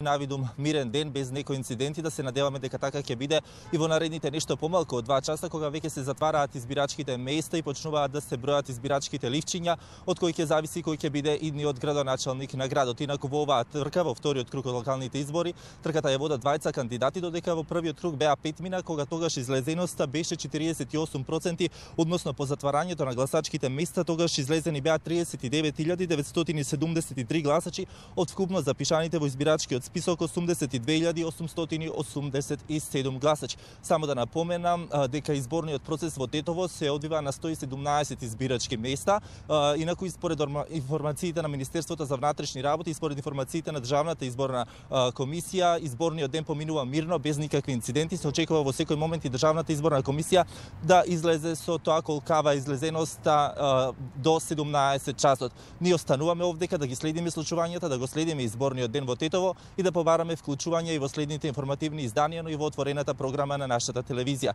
навидум мирен ден без некои инциденти, да се надеваме дека така ќе биде и во наредните нешто помалку од 2 часа, кога веќе се затвараат избирачките места и почнуваат да се бројат избирачките ливчиња, од кои ќе зависи кој ќе биде идниот градоначалник на градот. Инаку во оваа трка, во вториот круг од локалните избори, трката ја водат двајца кандидати, додека во првиот круг беа петмина, кога тогаш излезеноста беше 48%, односно по затварањето на гласачките места тогаш излезени беа 39.973 гласачи од вкупно запишаните во избирачкиот список 82.887 гласачи. Само да напоменам дека изборниот процес во Тетово се одвива на 117 избирачки места. Инаку според информациите на Министерството за внатрешни работи и според информациите на Државната изборна комисија, изборниот ден поминува мирно без никакви инциденти. Се очекува во секој момент и Државната изборна комисија да излезе со тоа колкава излезеноста до 17 часот. Ние остануваме овдека да ги следиме случувањата, да го следиме изборниот ден во Тетово и да побараме вклучување и во следните информативни изданија, но и во отворената програма на нашата телевизија.